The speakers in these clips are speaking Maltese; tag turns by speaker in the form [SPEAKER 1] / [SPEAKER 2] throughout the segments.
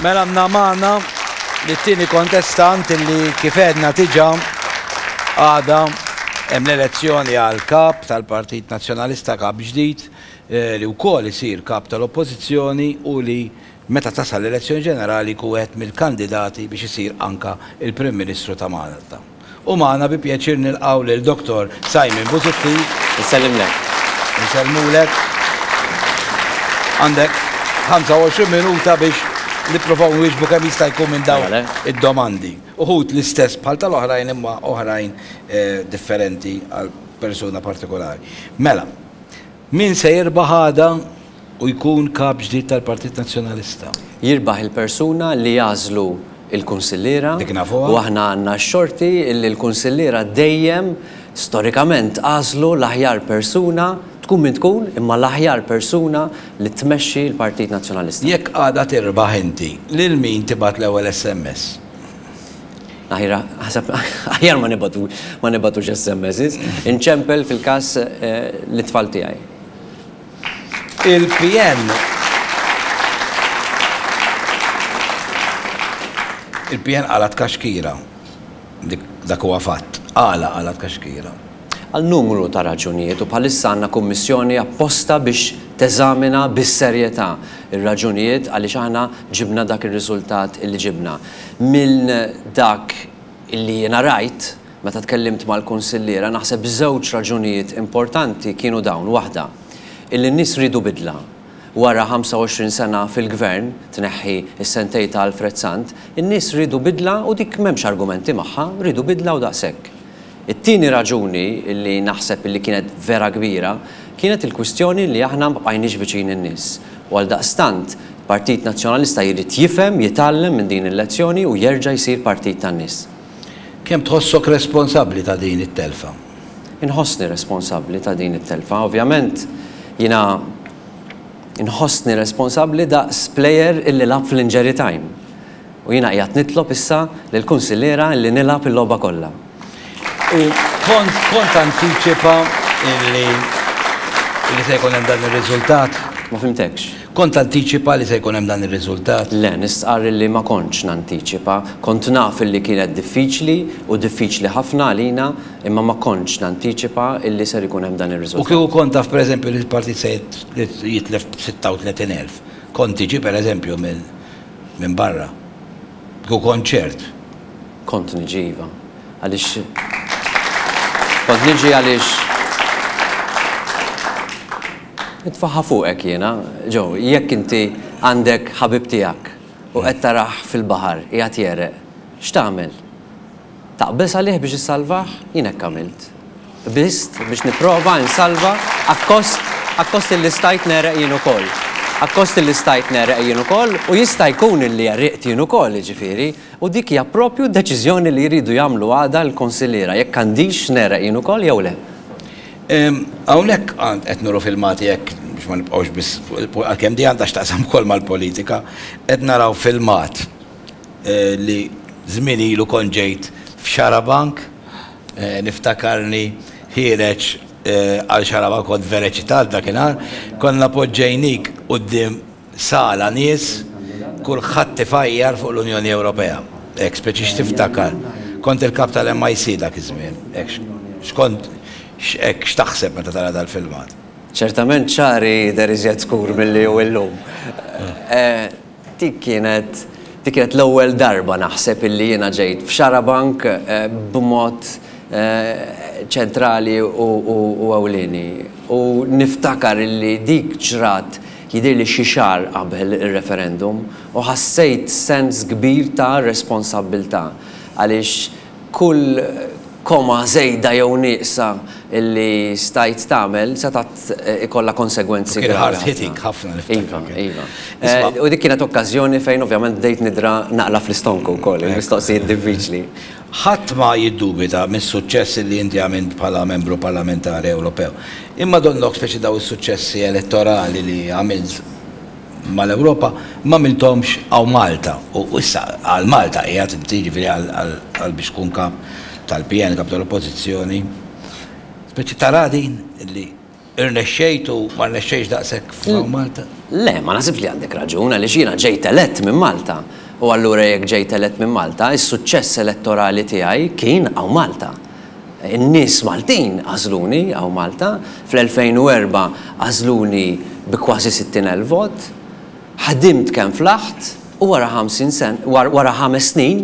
[SPEAKER 1] Mela għandna magħna lit-tieni kontestant illi kif għedna diġà għada hemm l-elezzjoni għal kap tal-Partit Nazzjonalista, kap ġdid, li wkoll isir kap tal-Oppożizzjoni u li meta tasal l-elezzjoni ġenerali jkun wieħed mill-kandidati biex isir anka il-Prim Ministru ta' Malta. U magħna bi pjaċir nilqgħu lil Dottor Simon Busuttil.
[SPEAKER 2] Insellimlek.
[SPEAKER 1] Insellmulek. Għandek 25 minuta biex nippruvaw nwieġbu kemm jista' jkun minn dawn id-domandi. Uħud l-istess bħal tal-oħrajn imma oħrajn differenti għal persuna partikolari. Mela, min se jirbaħ għada u jkun Kap ġdid tal-Partit Nazzjonalista?
[SPEAKER 2] Jirbaħ il-persuna li jagħżlu l-kunsilliera.
[SPEAKER 1] Dik nafuha.
[SPEAKER 2] U aħna għandna x-xorti li l-kunsilliera dejjem, storikament, għażlu l-aħjar persuna, tkun min tkun, imma l-aħjar persuna li tmexxi l-Partit Nazzjonalista.
[SPEAKER 1] Jekk għada tirbaħ inti, lil min tibgħat l-ewwel SMS?
[SPEAKER 2] Aħjar, aħseb, aħjar ma nibgħatu, ma nibgħatux SMSs. Inċempel fil-każ lit-tfal tiegħi.
[SPEAKER 1] Il-PN Il-PN qala' tkaxkira. Dik dak huwa fatt. Għala qala' tkaxkira?
[SPEAKER 2] Għal numru ta' raġunijiet u bħalissa għandna kummissjoni apposta biex teżamina bis-serjetà r-raġunijiet għaliex aħna ġibna dak ir-riżultat illi ġibna. Minn dak illi jiena rajt, Meta tkellimt mal-kunsilliera, naħseb żewġ raġunijiet importanti kienu dawn, waħda, illi n-nies riedu bidla. Wara 25 sena fil-Gvern, tneħħi s-sentej ta' Alfred Sant, in-nies riedu bidla u dik m'hemmx argumenti magħha, riedu bidla u daqshekk. It-tieni raġuni li naħseb illi kienet vera kbira, kienet il-kwistjoni li aħna ma bqajniex viċin in-nies. U għaldaqstant, Partit Nazzjonalista jrid jifhem, jitgħallem minn din il-lezzjoni u jerġa' jsir partit tan-nies.
[SPEAKER 1] Kemm tħossok responsabbli ta' din it-telfa?
[SPEAKER 2] Inħossni responsabbli ta' din it-telfa. Ovvjament jiena nħossni responsabbli daqs plejer illi lagħab fl-injury time. U jiena qiegħed nitlob issa lill-kunsilliera illi nilgħab il-logħba kollha.
[SPEAKER 1] U kont kont tantiċipa illi illi se jkun hemm dan ir-riżultat?
[SPEAKER 2] Ma fhimtekx.
[SPEAKER 1] Kont tantiċipa li se jkun hemm dan ir-riżultat?
[SPEAKER 2] Le, nistqarr illi ma kontx nantiċipa. Kont naf illi kienet diffiċli u diffiċli ħafna għalina, imma ma kontx nantiċipa illi ser ikun hemm dan
[SPEAKER 1] U
[SPEAKER 2] ir-riżultat.
[SPEAKER 1] kieku kont taf pereżempju li l-partit se jitlef b'36,000, kont tiġi pereżempju minn barra? Kieku kont ċert?
[SPEAKER 2] Kont niġi iva. Għaliex kont niġi għaliex nitfaħħa fuqek jiena, Joe, jekk inti għandek ħabib tiegħek u qed tarah fil-baħar qiegħed jegħreq, x'tagħmel? Taqbeż għalih biex issalvah? Jien hekk għamilt. Qbiżt biex nipprova insalva akkost akkost illi stajt negħreq jien ukoll. Akkost illi stajt negħreq jien ukoll u jista' jkun illi għeriqt jien ukoll, jiġifieri, u dik hija proprju d-deċiżjoni li jridu jagħmlu għada l-konsilliera, jekk għandix negħreq jien ukoll jew le.
[SPEAKER 1] Hawnhekk qed nuru filmati hekk biex ma nibqgħux biss fuq għalkemm di għandha x'taqsam ukoll mal-politika, qed naraw filmat li żmien ilu kont ġejt f'Xarabank, niftakarni ħiereġ għal Xarabank kont vera eċitat dakinhar, konna poġġejnik quddiem sala nies, kulħadd ifajjar fuq l-Unjoni Ewropea. Hekk speċi x'tiftakar? Kont il-kap tal-MIC dak iż-żmien. Hekk x'kont hekk x'taħseb meta tara dal-filmat?
[SPEAKER 2] Ċertament xagħri jidher iżjed skur milli hu illum. Dik kienet dik kienet l-ewwel darba naħseb illi jiena ġejt f'Xarabank b'mod ċentrali u ewlieni. U niftakar illi dik ġrat jidhirli xi xahar qabel ir-referendum u ħassejt sens kbir ta' responsabbiltà għaliex kull koma żejda jew nieqsa li stajt tagħmel setgħet ikollha konsegwenzi
[SPEAKER 1] gravi ħafna. Kien hard hitting ħafna
[SPEAKER 2] niftakar. Iva, iva. U dik kienet okkażjoni fejn ovvjament bdejt nidra naqla' fl-istonku wkoll, il-mistoqsijiet diffiċli.
[SPEAKER 1] Ħadd ma jiddubita mis-suċċess li inti għamilt bħala membru parlamentari Ewropew. Imma donnok speċi dawn is-suċċessi elettorali li għamilt mal-Ewropa m'għamilthomx hawn Malta. U issa għal Malta qiegħed inti, jiġifieri għal biex tkun kap tal-PN, kap tal-Oppożizzjoni. Speċi tara din li. Irnexxejt u ma rnexxejtx daqshekk f'hawn Malta?
[SPEAKER 2] Le, ma naħsibx li għandek raġun għaliex jiena ġejt elett minn Malta. U allura jekk ġejt elett minn Malta, is-suċċess elettorali tiegħi kien hawn Malta. In-nies Maltin għażluni hawn Malta. Fl-2004 għażluni bi kważi 60,000 vot. Ħdimt kemm flaħt u wara 50 sen, wara ħames snin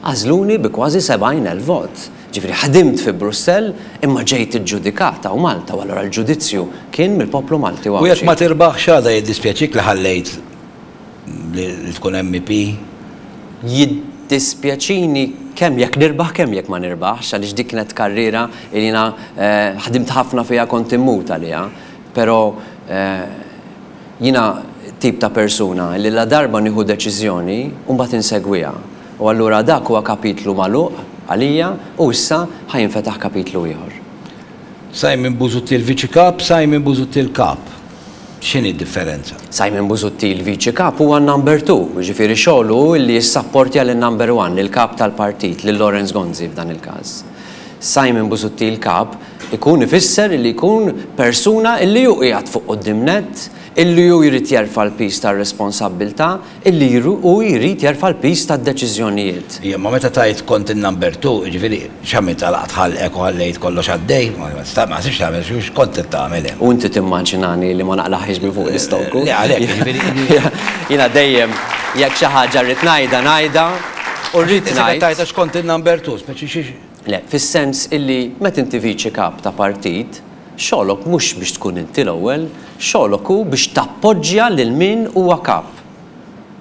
[SPEAKER 2] għażluni bi kważi 70,000 vot. Ġifieri ħdimt fi Brussell imma ġejt iġġudikat hawn Malta u allura l-ġudizzju kien mill-poplu Malti u
[SPEAKER 1] U jekk
[SPEAKER 2] Għawdxi.
[SPEAKER 1] ma tirbaħx għada jiddispjaċik li ħallejt li tkun MEP?
[SPEAKER 2] Jiddispjaċini kemm jekk nirbaħ kemm jekk ma nirbaħx għaliex dik kienet karriera li jiena ħdimt ħafna fiha kont immut għaliha. Però jiena tip ta' persuna li ladarba nieħu deċiżjoni u mbagħad insegwiha. U allura dak huwa kapitlu magħluq għalija u issa ħa jinfetaħ kapitlu ieħor.
[SPEAKER 1] Simon Busuttil Viċi Kap, Simon Busuttil Kap. X'inhi d-differenza?
[SPEAKER 2] Simon Busuttil Viċi Kap huwa n-number two, jiġifieri xogħlu hu li jissapportja lin-number one, lill-Kap tal-Partit, lil Lawrence Gonzi f'dan il-każ. Simon Busuttil Kap ikun ifisser li jkun persuna illi hu qiegħed fuq quddiem nett, illi hu jrid jerfa' l-piż tar-responsabbiltà, Illi hu jrid jerfa' l-piż tad-deċiżjonijiet.
[SPEAKER 1] Ija, imma meta tgħid kont in-number two, jiġifieri x'għamilt għalaqt ħalqek u ħallejt kollox għaddej? Ma naħsibx tagħmel, x'kont qed tagħmel hemm?
[SPEAKER 2] U inti timmaġinani li ma naqlagħhiex minn fuq l-istonku?
[SPEAKER 1] Le, għalhekk, jiġifieri.
[SPEAKER 2] Jiena dejjem jekk xi ħaġa rrid ngħidha, ngħidha u rrid ngħid.
[SPEAKER 1] Issa qed tgħid għax kont in-number two, speċi xi.
[SPEAKER 2] Le, fis-sens illi meta inti viċi kap ta' partit, xogħlok mhux biex tkun inti l-ewwel, xogħlok hu biex tappoġġja lil min huwa kap.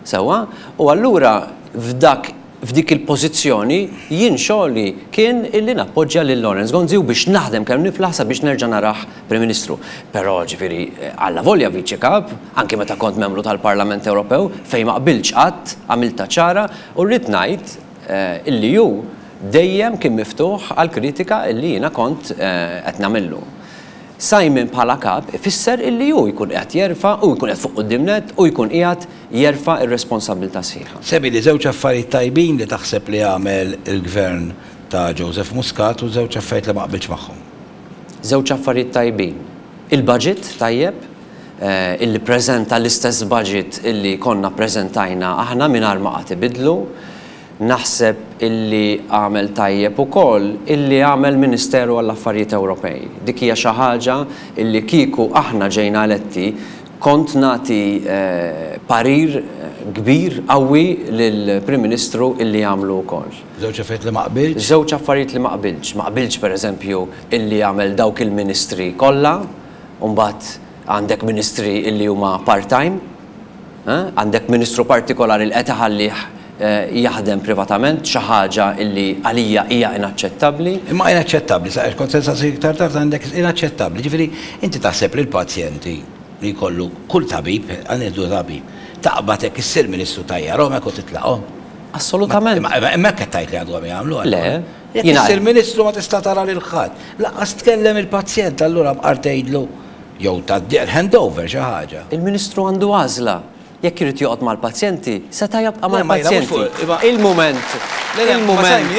[SPEAKER 2] Sewwa? U allura f'dak f'dik il-pożizzjoni jien xogħli kien illi nappoġġja lil Lawrence Gonzi u biex naħdem kemm niflaħ sabiex nerġa' narah Prim Ministru. Però ġifieri allavolja Viċi Kap, anki meta kont membru tal-Parlament Ewropew, fejn ma qbiltx qatt, għamiltha ċara u rrid ngħid illi hu dejjem kien miftuħ għall-kritika illi jiena kont qed nagħmillu. Simon bħala kap ifisser illi hu jkun qiegħed jerfa', hu jkun qiegħed fuq quddiem nett u jkun qiegħed jerfa' r-responsabbiltà sħiħa.
[SPEAKER 1] Semmili żewġ affarijiet tajbin li taħseb li għamel il-Gvern ta' Joseph Muscat u żewġ affarijiet li ma qbiltx magħhom.
[SPEAKER 2] Żewġ affarijiet tajbin. Il-budget tajjeb, illi ppreżenta l-istess budget illi konna ppreżentajna aħna mingħajr ma qagħad ibiddlu. Naħseb illi għamel tajjeb ukoll illi għamel Ministeru għall-Affarijiet Ewropej. Dik hija xi ħaġa illi kieku aħna ġejna eletti kont nagħti parir kbir, qawwi lill-Prim Ministru illi jagħmlu wkoll.
[SPEAKER 1] Żewġ affarijiet li ma qbiltx?
[SPEAKER 2] Żewġ affarijiet li ma qbiltx. Ma qbiltx pereżempju illi għamel dawk il-ministri kollha u mbagħad għandek ministri illi huma part-time. Għandek ministru partikolari li qed iħallih jaħdem privatament, xi ħaġa li għalija hija inaċċettabbli.
[SPEAKER 1] Imma inaċċettabbli, sa kont se nsaqsik iktar tard għandek inaċċettabbli. Ġifieri inti taħseb li l-pazjenti li jkollu kull tabib, ħa nieħdu tabib, taqbad hekk issir ministru tgħajjarhom hekk u titlaqhom?
[SPEAKER 2] Assolutament.
[SPEAKER 1] Imma hekk qed tgħid li għadhom jagħmlu
[SPEAKER 2] allura? Le.
[SPEAKER 1] Jekk issir ministru ma tista' tara lil ħadd, lanqas tkellem il-pazjent allura mqar tgħidlu Jew tgħaddi handover xi ħaġa.
[SPEAKER 2] Il-Ministru għandu għażla. Jekk irid joqgħod mal-pazjenti, seta' jabqa' mal-pazjenti. Il-mument, il-mument.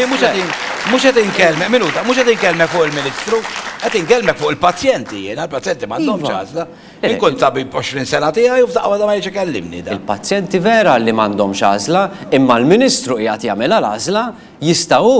[SPEAKER 1] Mhux qed inkellmek, minuta, mhux qed inkellmek fuq il-Ministru, qed inkellmek fuq il-pazjenti jiena, il-pazjenti m'għandhomx għażla. Jien kont tabib 20 sena tiegħi u f'daqqa waħda ma jridx ikellimni dan.
[SPEAKER 2] Il-pazjenti vera li m'għandhomx għażla, imma l-Ministru qiegħed jagħmilha l-għażla Jista' hu,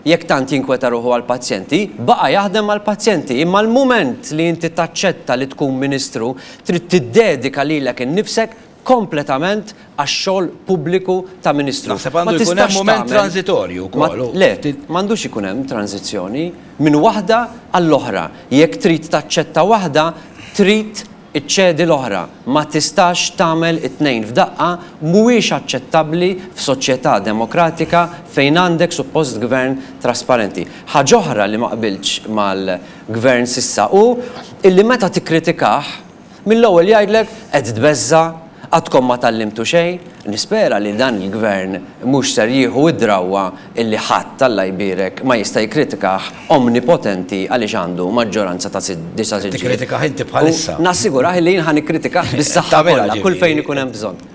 [SPEAKER 2] jekk tant jinkweta ruħu għall-pazjenti, baqa' jaħdem mal-pazjenti, imma l-mument li inti taċċetta li tkun Ministru, trid tiddedika lilek innifsek kompletament għax-xogħol pubbliku ta' Ministru.
[SPEAKER 1] Naħseb għandu jkun hemm mument tranżitorju wkoll.
[SPEAKER 2] Le, m'għandux ikun hemm tranżizzjoni minn waħda għall-oħra. Jekk trid taċċetta waħda, trid Iċċedi l-oħra. Ma tistax tagħmel it-tnejn f'daqqa, mhuwiex aċċettabbli f'soċjetà demokratika fejn għandek suppost gvern trasparenti. Ħaġa oħra li ma qbiltx mal-gvern s'issa hu illi meta tikkritikah, mill-ewwel jgħidlek qed tbeżża', għadkom ma tgħallimtu xejn. Nispera li dan il-gvern mhux ser jieħu d-drawwa illi ħadd, Alla jbierek, ma jista' jikkritikah omnipotenti għaliex għandu maġġoranza ta' disa' siġġijiet.
[SPEAKER 1] Tikkritikah inti bħalissa.
[SPEAKER 2] U nassigurah illi jien ħa nikkritikah bis-saħħa kollha, kull fejn ikun hemm bżonn.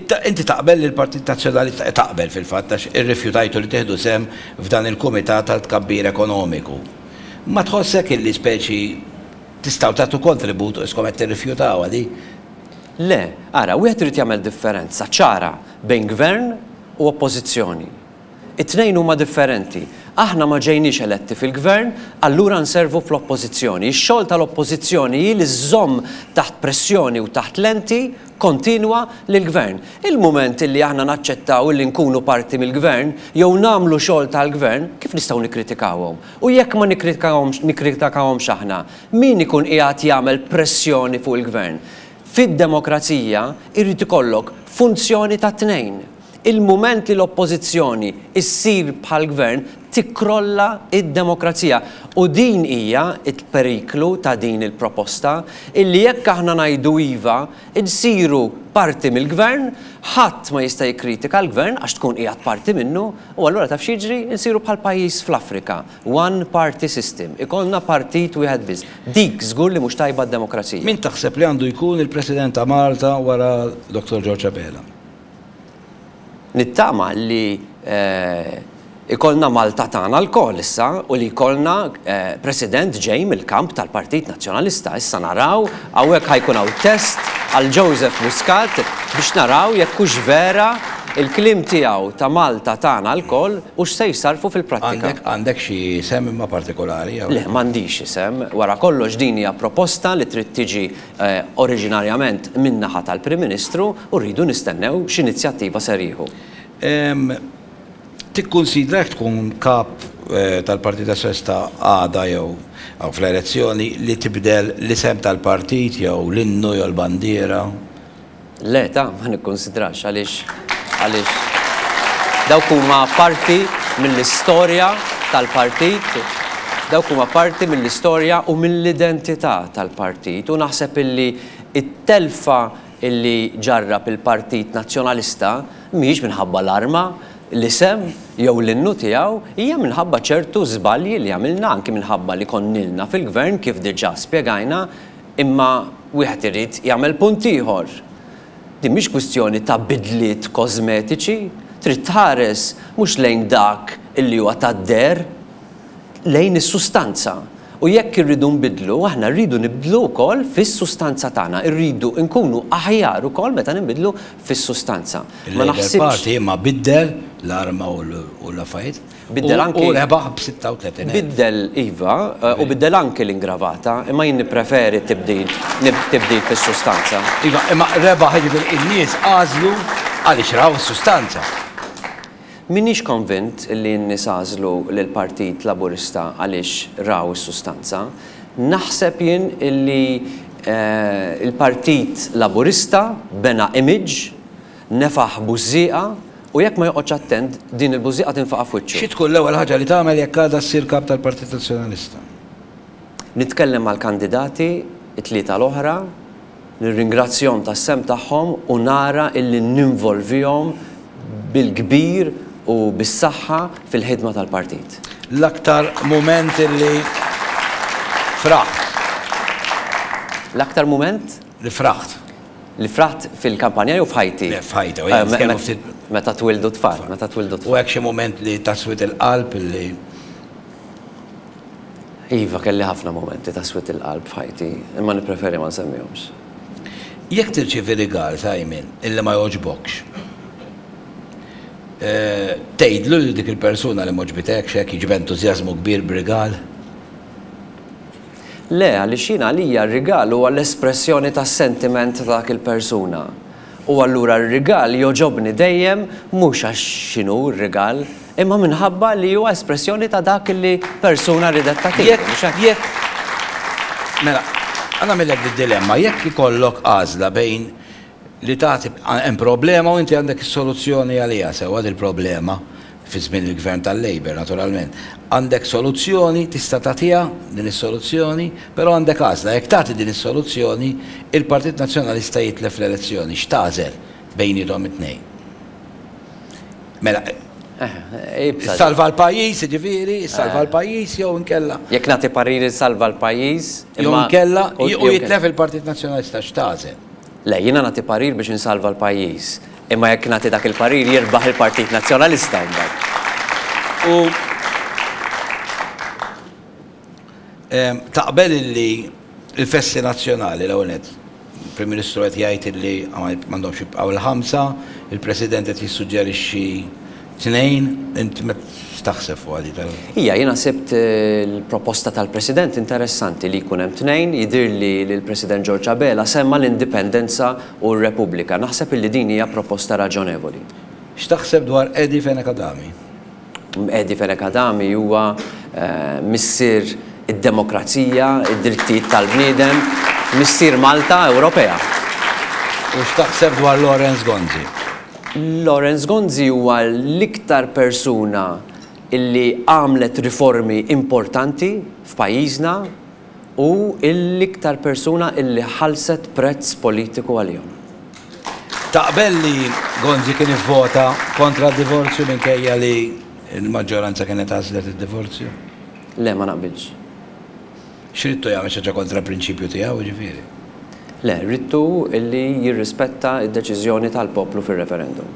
[SPEAKER 1] Inti taqbel li l-Partit Nazzjonalista, taqbel fil-fatt għax irrifjutajtu li tieħdu sehem f'dan il-Kumitat għal Tkabbir Ekonomiku. Ma tħossek illi speċi. Tistgħu tagħtu kontribut u iskom qed tirrifjutawha di?
[SPEAKER 2] Le, ara, wieħed irid jagħmel differenza ċara bejn gvern u oppożizzjoni. It-tnejn huma differenti. Aħna ma ġejniex eletti fil-gvern, allura nservu fl-oppożizzjoni. Ix-xogħol tal-oppożizzjoni hi li żżomm taħt pressjoni u taħt lenti kontinwa lill-gvern. Il-mument illi aħna naċċettaw illi nkunu parti mill-gvern jew nagħmlu xogħol tal-gvern, kif nistgħu nikkritikawhom? U jekk ma nikkritikawhomx aħna, min ikun qiegħed jagħmel pressjoni fuq il-gvern? Fid-demokrazija jrid ikollok funzjoni tat-tnejn. Il-mument li l-Oppożizzjoni ssir bħall-Gvern tikkrolla d-demokrazija. U din hija l-periklu ta' din il-proposta, illi jekk aħna ngħidu iva, insiru parti mill-Gvern, ħadd ma jista' jikkritika l-Gvern għax tkun qiegħed parti minnu, u allura taf x'jiġri? Insiru bħal pajjiż fl-Afrika, one party system, ikollna partit wieħed biss. Dik żgur li mhux tajba għad-demokrazija.
[SPEAKER 1] Min taħseb li għandu jkun il-President ta' Malta wara Dottor George Abela?
[SPEAKER 2] Nittama li ikollna Malta tagħna lkoll issa u li jkollna President ġej mill-kamp tal-Partit Nazzjonalista. Issa naraw, hawnhekk ħa jkun hawn test għal Joseph Muscat biex naraw jekk hux vera l-kliem tiegħu ta' Malta tagħna lkoll hux se jsarrfu fil-prattika.
[SPEAKER 1] Għandek xi isem imma partikolari jew?
[SPEAKER 2] Le, m'għandix isem. Wara kollox din hija proposta li trid tiġi oriġinarjament min-naħa tal-Prim Ministru u rridu nistennew x'inizjattiva ser jieħu.
[SPEAKER 1] Tikkunsidra jekk tkun kap tal-Partit Nazzjonalista għada jew fl-elezzjoni li tibdel l-isem tal-partit jew l-innu jew l-bandiera?
[SPEAKER 2] Le ta, ma nikkunsidrax għaliex għaliex dawk huma parti mill-istorja tal-partit, dawk huma parti mill-istorja u mill-identità tal-partit u naħseb illi t-telfa illi ġarrab il-Partit Nazzjonalista mhijiex minħabba l-arma, l-isem jew l-innu tiegħu, hija minħabba ċertu żbalji li għamilna anki minħabba li konnilna fil-gvern kif diġà spjegajna Imma wieħed irid jagħmel punt ieħor. Din mhix kwistjoni ta' bidliet kożmetiċi, trid tħares mhux lejn dak illi huwa tad-deher, lejn is-sustanza. U jekk irridu nbiddlu, aħna rridu nibdlu wkoll fis-sustanza tagħna, irridu nkunu aħjar ukoll meta ninbidlu fis-sustanza. Ma
[SPEAKER 1] Il-Labour
[SPEAKER 2] naħsibx.
[SPEAKER 1] Party imma biddel l-arma u l-affarijiet.
[SPEAKER 2] Biddel anki.
[SPEAKER 1] U rebaħ b'36,000.
[SPEAKER 2] Biddel, iva, u biddel anki l-ingravata, imma jien nippreferi t-tibdil, tibdil fis-sustanza.
[SPEAKER 1] Iva, imma rebaħ jiġifieri n-nies għażlu għaliex raw is-sustanza.
[SPEAKER 2] M'iniex konvint li n-nies għażlu lill-Partit Laburista għaliex raw is-sustanza. Naħseb jien li l-Partit Laburista bena image, nefaħ bużżieqa, U jekk ma joqgħodx attent, din il-bużżieqa tinfaqa' f'wiċċu.
[SPEAKER 1] Xi tkun l-ewwel ħaġa li tagħmel jekk għada ssir Kap tal-Partit Nazzjonalista?
[SPEAKER 2] Nitkellem mal-kandidati, it-tlieta l-oħra, nirringrazzjahom tas-sehem tagħhom u nara illi ninvolvihom bil-kbir u bis-saħħa fil-ħidma tal-partit.
[SPEAKER 1] L-aktar mument illi fraħt?
[SPEAKER 2] L-aktar mument?
[SPEAKER 1] Li fraħt.
[SPEAKER 2] Li fraħt fil-kampanja jew f'ħajti?
[SPEAKER 1] Le, f'ħajti, u jien nitkellmu ftit.
[SPEAKER 2] Meta twildu t-tfal, meta twildu t-tfal.
[SPEAKER 1] U hekk xi mument li ta' swied il-qalb li.
[SPEAKER 2] Iva, kelli ħafna mumenti ta' swied il-qalb f'ħajti, imma nippreferi ma nsemmihomx.
[SPEAKER 1] Jekk tirċievi rigal, Simon, illi ma jogħġbokx, tgħidlu lil dik il-persuna li m'għoġbitekx hekk, jiġi b'entużjażmu kbir b'rigal?
[SPEAKER 2] Le, għaliex jien għalija r-rigal huwa l-espressjoni tas-sentiment ta' dak il-persuna. U allura r-rigal jogħġobni dejjem mhux għax x'inhu r-rigal, imma minħabba li huwa espressjoni ta' dak li persuna riedet tagħtini, mhux hekk?
[SPEAKER 1] Jekk, jekk, mela, ħa nagħmillek did-dilemma, jekk ikollok għażla bejn li tagħti, hemm problema u inti għandek is-soluzzjoni għaliha sewwa dil-problema, fi żmien il-Gvern tal-Labour naturalment, għandek soluzzjoni, tista' tagħtiha din is-soluzzjoni, però għandek għażla, jekk tagħti din is-soluzzjoni, il-Partit Nazzjonalista jitlef l-elezzjoni, x'tagħżel bejniethom it-tnejn? Mela, issalva l-pajjiż, jiġifieri, issalva l-pajjiż jew inkella.
[SPEAKER 2] Jekk nagħti parir issalva l-pajjiż,
[SPEAKER 1] imma. Jew inkella, u jitlef il-Partit Nazzjonalista, x'tagħżel?
[SPEAKER 2] Le, jiena nagħti parir biex insalva l-pajjiż. Imma jekk nagħti dak il-parir jirbaħ il-Partit Nazzjonalista mbagħad.
[SPEAKER 1] U taqbel illi Il-festi nazzjonali l-ewwel nett. Il-Prim Ministru qed jgħid li m'għandhomx jibqgħu l-ħamsa, il-President qed jissuġġerixxi tnejn, int x'taħseb fuqha di tal.
[SPEAKER 2] Ija, jiena sibt il-proposta tal-President interessanti li jkun hemm tnejn, jidhirli li l-President George Abela semma l-Indipendenza u r-Repubblika. Naħseb illi din hija proposta raġonevoli.
[SPEAKER 1] X'taħseb dwar Eddie Fenech Adami?
[SPEAKER 2] Eddie Fenech Adami huwa missier id-demokrazija, id-drittijiet tal-bniedem, missier Malta Ewropea.
[SPEAKER 1] U x'taħseb dwar Lawrence Gonzi?
[SPEAKER 2] Lawrence Gonzi huwa l-iktar persuna illi għamlet riformi importanti f'pajjiżna u l-iktar persuna illi ħallset prezz politiku għalihom.
[SPEAKER 1] Taqbel li Gonzi kien ivvota kontra d-divorzju minkejja li l-maġġoranza kienet għażlet id-divorzju?
[SPEAKER 2] Le, ma naqbilx.
[SPEAKER 1] X'ridtu jagħmel xi ħaġa kontra l-prinċipju tiegħu, jiġifieri?
[SPEAKER 2] Le, ridtu li jirrispetta d-deċiżjoni tal-poplu fir-referendum.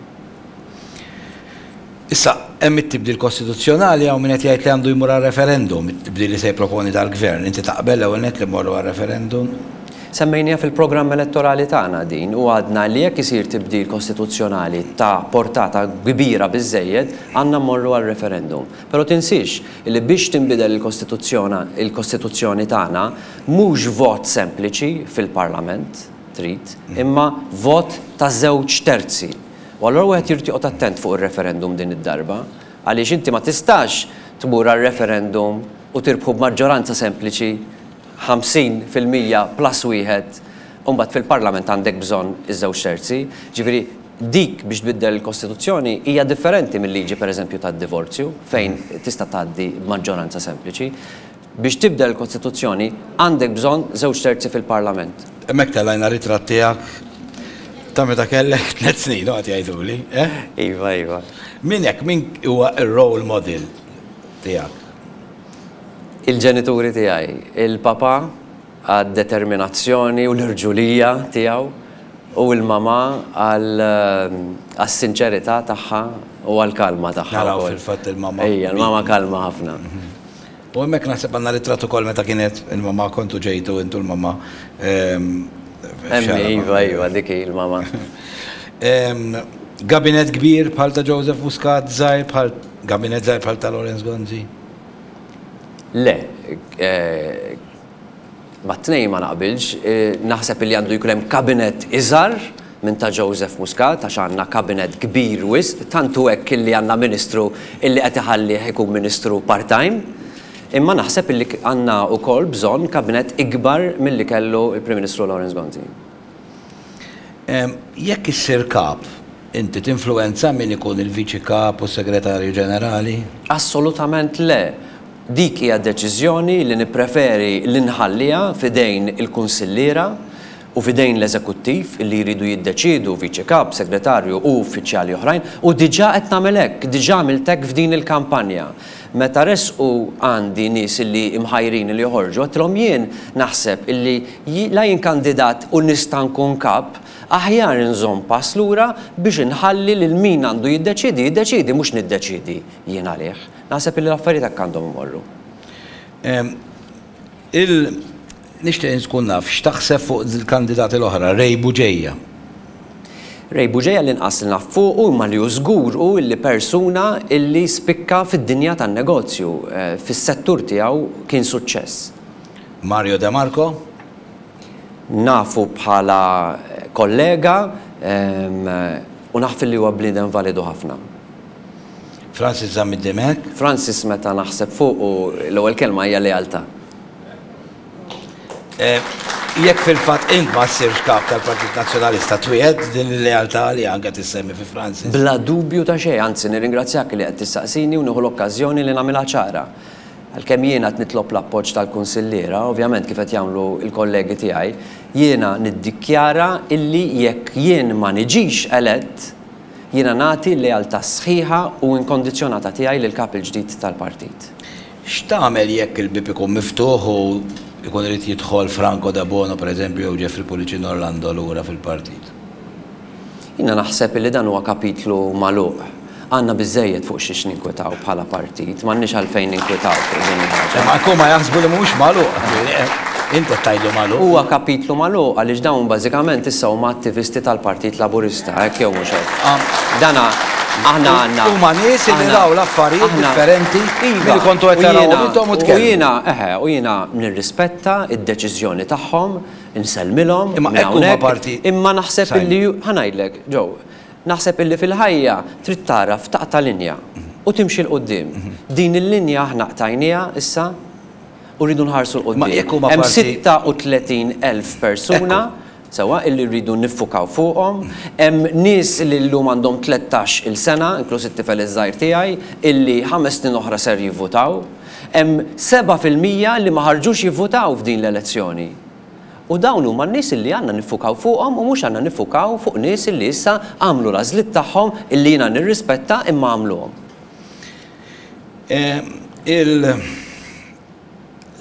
[SPEAKER 1] Issa, hemm it-tibdil kostituzzjonali hawn min qed jgħid li għandu jmur għal referendum, it-tibdil li se jipproponi dal-Gvern. Inti taqbel l-ewwel nett li mmorru għal referendum?
[SPEAKER 2] Semmejniha fil-programm elettorali tagħna din u għadna li jekk isir tibdil kostituzzjonali ta' portata kbira biżżejjed, għandna mmorru għal referendum. Però tinsiex li biex tinbidel il-kostituzzjona il-kostituzzjoni tagħna mhux vot sempliċi fil-Parlament trid, imma vot ta' żewġ terzi. U allura wieħed jrid joqgħod attent fuq ir-referendum din id-darba, għaliex inti ma tistax tmur għal referendum u tirbħu b'maġġoranza sempliċi 50% plus wieħed u mbagħad fil-Parlament għandek bżonn iż-żewġ terzi. Ġifieri dik biex tbiddel il-Kostituzzjoni hija differenti mil-liġi pereżempju tad-divorzju fejn tista' tgħaddi b'maġġoranza sempliċi. Biex tibdel il-Kostituzzjoni għandek bżonn żewġ terzi fil-Parlament.
[SPEAKER 1] Hemmhekk tellajna ritratt tiegħek ta' meta kellek tliet snin, qed jgħiduli, eh?
[SPEAKER 2] Iva, iva.
[SPEAKER 1] Min hekk, min huwa r-role model tiegħek?
[SPEAKER 2] Il-ġenituri tiegħi. Il-papà għad-determinazzjoni u l-irġulija tiegħu u l-mamà għas-sinċerità tagħha u għall-kalma tagħha.
[SPEAKER 1] Naraw fil-fatt il-mamà.
[SPEAKER 2] Ejja, il-mamà kalma ħafna.
[SPEAKER 1] U hemmhekk naħseb għandna ritratt ukoll meta kienet il-mamà kontu ġejtu intu l-mamà.
[SPEAKER 2] Hemm iva, iva, dik hi l-mamà.
[SPEAKER 1] Gabinett kbir bħal ta' Joseph Muscat, żgħir bħal gabinett żgħir bħal ta' Lawrence Gonzi?
[SPEAKER 2] Le, Mat-tnejn ma naqbilx. Naħseb illi għandu jkun hemm kabinett iżgħar minn ta' Joseph Muscat għax għandna kabinett kbir wisq, tant hu hekk illi għandna Ministru illi qed iħallih ikun Ministru part-time. Imma naħseb illi għandna wkoll bżonn kabinett ikbar milli kellu l-Prim Ministru Lawrence Gonzi.
[SPEAKER 1] Jekk issir Kap, inti tinfluwenza min ikun il-Viċi Kap u s-Segretarju Ġenerali?
[SPEAKER 2] Assolutament le. Dik hija deċiżjoni li nippreferi li nħalliha f'idejn il-kunsilliera u f'idejn l-eżekuttiv li jridu jiddeċiedu, Viċi Kap, Segretarju u uffiċjali oħrajn, u diġà qed nagħmel hekk, diġà għamilt hekk f'din il-kampanja. Meta resqu għandi nies illi mħajrin li joħorġu, għedtilhom jien naħseb illi la jien kandidat u nista' nkun Kap, aħjar inżomm pass lura biex inħalli lil min għandu jiddeċiedi jiddeċiedi mhux niddeċiedi jien għalih. Naħseb illi l-affarijiet hekk għandhom imorru.
[SPEAKER 1] Il Nixtieq inkun naf x'taħseb fuq il-kandidati l-oħra, Ray Bugeja.
[SPEAKER 2] Ray Bugeja l-inqas li naf fuqu imma li hu żgur hu illi persuna illi spikka fid-dinja tan-negozju, fis-settur tiegħu kien suċċess.
[SPEAKER 1] Mario De Marco?
[SPEAKER 2] Nafu bħala kollega u naf illi huwa bniedem validu ħafna.
[SPEAKER 1] Francis Zammit Dimech?
[SPEAKER 2] Francis meta naħseb fuqu l-ewwel kelma hija lealtà.
[SPEAKER 1] Jekk fil-fatt int ma ssirx kap tal-Partit Nazzjonalista twiegħed din il-lealtà li anke tissemmi fi Francis?
[SPEAKER 2] Bla dubju ta' xejn, anzi nirringrazzjak li qed tistaqsini u nieħu l-okkażjoni li nagħmilha ċara. Għalkemm jiena qed nitlob l-appoġġ tal-kunsilliera, ovvjament kif qed jagħmlu l-kollegi tiegħi, jiena niddikjara illi jekk jien ma niġix elett, Jiena nagħti l-lealtà sħiħa u inkondizzjonata tiegħi lill-Kap il-ġdid tal-Partit.
[SPEAKER 1] X'tagħmel jekk il-bieb ikun miftuħ u jkun irid jidħol Franco Debono pereżempju jew Jeffrey Pullicino Orlando lura fil-partit?
[SPEAKER 2] Jiena naħseb illi dan huwa kapitlu magħluq. Għandna biżżejjed fuq xiex ninkwetaw bħala partit, m'għandniex għalfejn ninkwetaw fuq din il-ħaġa.
[SPEAKER 1] Imma huma jaħsbu li mhuwiex magħluq. Int qed tgħidlu magħluq.
[SPEAKER 2] Huwa kapitlu magħluq għaliex dawn bażikament issa huma attivisti tal-Partit Laburista, hekk jew mhux hekk? Dana aħna għandna.
[SPEAKER 1] Huma nies li raw l-affarijiet differenti milli kontu qed tarawhom intom u tkellmu.
[SPEAKER 2] U jiena, eħe, u jiena nirrispetta d-deċiżjoni tagħhom, insellmilhom.
[SPEAKER 1] Imma hekk huma parti.
[SPEAKER 2] Imma naħseb illi, ħa ngħidlek, Joe, naħseb illi fil-ħajja trid tagħraf taqta' linja u timxi 'l quddiem. Din il-linja aħna qtajniha issa u rridu nħarsu 'l quddiem. Hemm 36,000 persuna, sewwa, illi rridu niffukaw fuqhom. Hemm nies li llum għandhom 13 il sena, inkluż it-tifel iż-żgħir tiegħi, illi ħames snin oħra ser jivvutaw. Hemm 7% li ma ħarġux jivvutaw f'din l-elezzjoni. U dawn huma n-nies illi għandna niffukaw fuqhom u mhux għandna niffukaw fuq nies illi issa għamlu l-għażliet tagħhom illi jiena nirrispetta imma għamluhom.
[SPEAKER 1] Il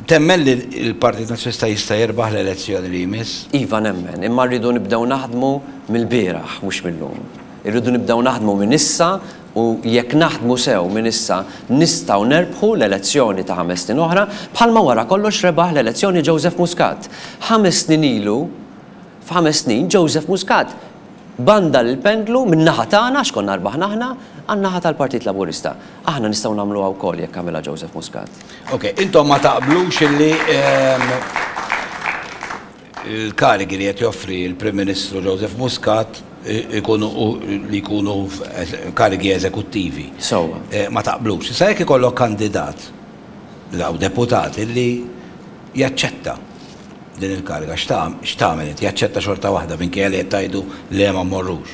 [SPEAKER 1] Temmen li l-Partit Nazzjonalista jista' jirbaħ l-elezzjoni li jmiss?
[SPEAKER 2] Iva nemmen, imma rridu nibdew naħdmu mill-bieraħ mhux mil-lum. Irridu nibdew naħdmu minn issa u jekk naħdmu sew minn issa nistgħu nerbħu l-elezzjoni ta' ħames snin oħra bħalma wara kollox rebaħ l-elezzjoni Joseph Muscat. Ħames snin ilu, f'ħames snin Joseph Muscat bandal il-pendlu min-naħa tagħna, għax konna rbaħna aħna, għan-naħa tal-Partit Laburista. Aħna nistgħu nagħmluha wkoll jekk għamilha Joseph Muscat.
[SPEAKER 1] Ok, intom ma taqblux illi l-karigi li qed joffri l-Prim Ministru Joseph Muscat ikunu li jkunu karigi eżekuttivi.
[SPEAKER 2] Sewwa.
[SPEAKER 1] Ma taqblux. Issa jekk ikollok kandidat jew deputat illi jaċċetta din il-kariga, x'tagħmel inti? Jaċċetta xorta waħda minkejja li qed tgħidu le ma mmorrux.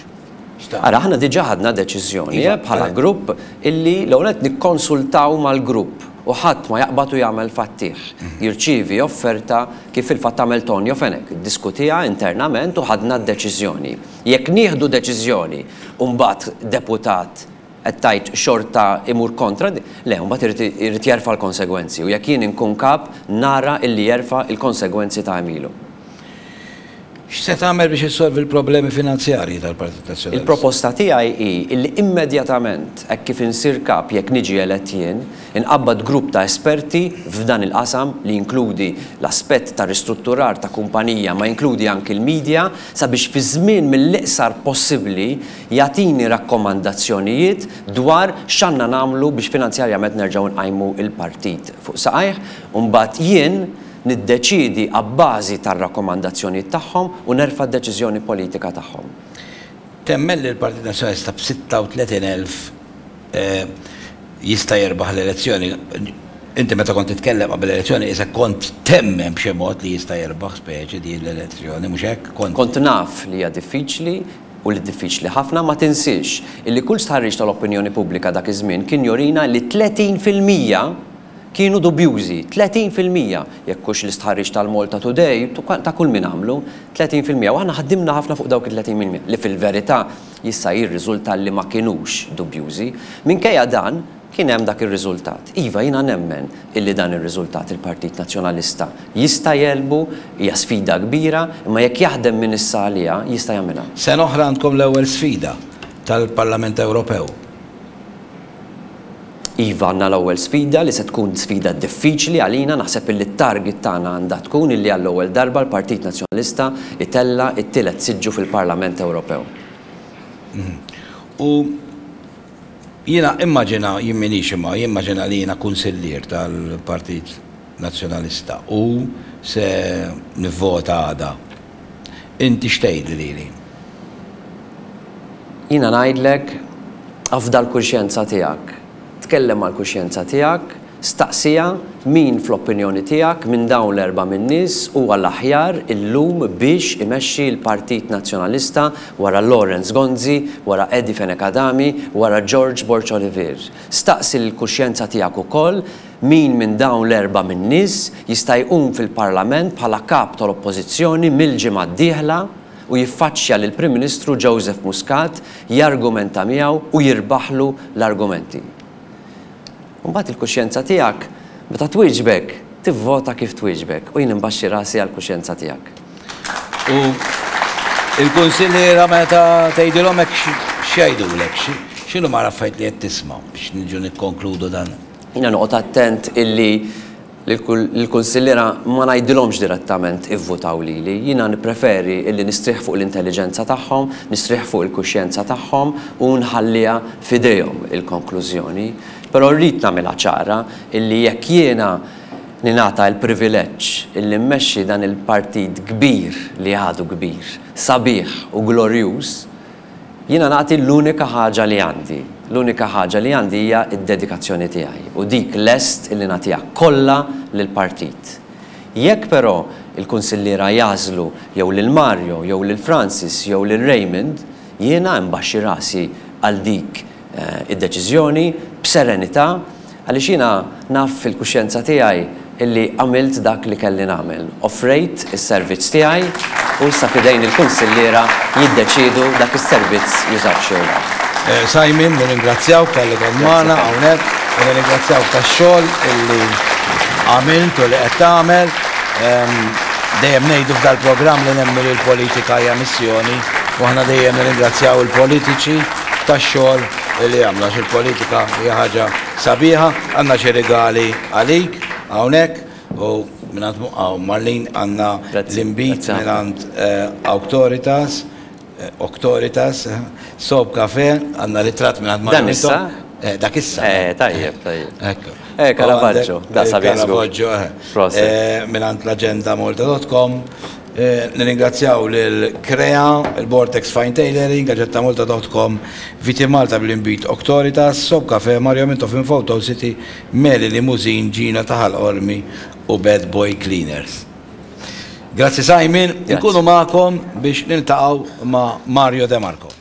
[SPEAKER 1] X'tagħmel?
[SPEAKER 2] Ara, aħna diġà ħadna deċiżjoni bħala grupp illi l-ewwel nett nikkonsultaw mal-grupp u ħadd ma jaqbad u jagħmel fattih. Jirċievi offerta kif fil-fatt għamel Tonio Fenech, iddiskutiha internament u ħadna d-deċiżjoni. Jekk nieħdu deċiżjoni u mbagħad deputat qed tgħid xorta imur kontra, le, mbagħad irid irid jerfa' l-konsegwenzi u jekk jien inkun kap nara illi jerfa' l-konsegwenzi ta' għemilu.
[SPEAKER 1] X'se tagħmel biex issolvi l-problemi finanzjarji tal-Partit Nazzjonalista?
[SPEAKER 2] Il-proposta tiegħi hi illi immedjatament hekk kif insir kap jekk niġi elett jien, inqabbad grupp ta' esperti f'dan il-qasam li jinkludi l-aspett ta' ristrutturar ta' kumpanija ma jinkludi anki l-media sabiex fi żmien mill-iqsar possibbli jagħtini rakkomandazzjonijiet dwar x'għandna nagħmlu biex finanzjarjament nerġgħu nqajmu l-partit fuq saqajh u mbagħad jien niddeċiedi abbażi tar-rakkomandazzjonijiet tagħhom u nerfa' d-deċiżjoni politika tagħhom.
[SPEAKER 1] Temmen li l-Partit Nazzjonalista b'36,000 jista' jirbaħ l-elezzjoni? Inti meta kont titkellem qabel l-elezzjoni qisek kont temmen b'xi mod li jista' jirbaħ speċi din l-elezzjoni, mhux hekk?
[SPEAKER 2] Kont. Kont naf li hija diffiċli u li diffiċli ħafna, ma tinsiex illi kull stħarriġ tal-opinjoni pubblika dak iż-żmien kien jurina li 30% kienu dubjużi, 30%, jekk hux l-istħarriġ tal-Malta Today, ta' kull min għamlu, 30%, u aħna ħdimna ħafna fuq dawk it-30% li fil-verità jista' jirriżulta li ma kinux dubjużi. Minkejja dan, Kien hemm dak ir-riżultat. Iva, jiena nemmen illi dan ir-riżultat il-Partit Nazzjonalista jista' jegħlbu, hija sfida kbira, imma jekk jaħdem minn issa għaliha, jista' jagħmilha.
[SPEAKER 1] Sena oħra għandkom l-ewwel sfida tal-Parlament Ewropew.
[SPEAKER 2] Iva, għandna l-ewwel sfida li se tkun sfida diffiċli għalina, naħseb illi t-target tagħna għandha tkun illi għall-ewwel darba l-Partit Nazzjonalista jtella' t-tielet siġġu fil-Parlament Ewropew.
[SPEAKER 1] U Jiena immaġina, jien m'iniex imma jimmaġina li jiena kunsillier tal-Partit Nazzjonalista u se nivvota għada. Inti x'tgħidli lili?
[SPEAKER 2] Jiena ngħidlek afda l-kuxjenza tiegħek. Tkellem mal-kuxjenza tiegħek, Staqsiha min fl-opinjoni tiegħek minn dawn l-erbgħa min-nies huwa l-aħjar illum biex imexxi l-Partit Nazzjonalista wara Lawrence Gonzi, wara Eddie Fenech Adami, wara George Borg Olivier. Staqsi lill-kuxjenza tiegħek ukoll min minn dawn l-erbgħa min-nies jista' jqum fil-Parlament bħala Kap tal-Oppożizzjoni mill-ġimgħa d-dieħla u jiffaċċja lill-Prim Ministru Joseph Muscat, jargumenta miegħu u jirbaħlu l-argumenti. U mbagħad il-kuxjenza tiegħek, meta twieġbek, tivvota kif twieġbek u jien inbaxxi rasi għall-kuxjenza tiegħek.
[SPEAKER 1] U l-kunsilliera meta tgħidilhom hekk x'jgħidulek? X'inhuma l-affarijiet li qed tisma' biex niġu nikkonkludu dan?
[SPEAKER 2] Jiena noqgħod attent illi Lill-kunsilliera ma ngħidilhomx direttament ivvutaw lili. Jiena nippreferi illi nistrieħ fuq l-intelliġenza tagħhom, nistrieħ fuq il-kuxjenza tagħhom u nħalliha f'idejhom il-konklużjoni. Però rrid nagħmilha ċara illi jekk jiena ningħata l-privileġġ illi mmexxi dan il-partit kbir li għadu kbir, sabiħ u glorjuż, Jiena nagħti l-unika ħaġa li għandi. L-unika ħaġa li għandi hija d-dedikazzjoni tiegħi u dik lest illi nagħtiha kollha lill-partit. Jekk però il-kunsilliera jagħżlu jew lil Mario jew lil Francis jew lil Raymond, jiena nbaxxi rasi għal dik id-deċiżjoni b'serenità għaliex jiena naf fil-kuxjenza tiegħi illi għamilt dak li kelli nagħmel. Offrejt is-servizz tiegħi u issa f'idejn il-kunsilliera jiddeċiedu dak is-servizz jużawhx jew le.
[SPEAKER 1] Simon, nirringrazzjawk talli kont magħna hawnhekk u nirringrazzjawk tax-xogħol illi għamilt u li qed tagħmel. Dejjem ngħidu f'dal-programm li nemmnu li l-politika hija missjoni u aħna dejjem nirringrazzjaw il-politiċi tax-xogħol li jagħmlu għax il-politika hija ħaġa sabiħa. Għandna xi rigali għalik hawnhekk u mingħand Marlene għandna l-inbid mingħand Auctoritas. Auctoritas, Soap Cafe, għandna ritratt mingħand Marlene.
[SPEAKER 2] Dan issa?
[SPEAKER 1] Dak issa.
[SPEAKER 2] Tajjeb, tajjeb. Ekku. Caravaggio, da sabiħ.
[SPEAKER 1] Caravaggio, eh. Mingħand l-agendamolta.com. Nirringrazzjaw lil Krea, il-Vortex Fine Tailoring, gaġettamolta.com, Viti Malta bl-inbid Auctoritas, Soap Cafe, Mario Mintoff minn Photo City, Meli Limousine, Gina ta' Ħal Qormi u Bad Boy Cleaners. Grazzi Simon, inkunu magħkom biex niltaqgħu ma' Mario De Marco.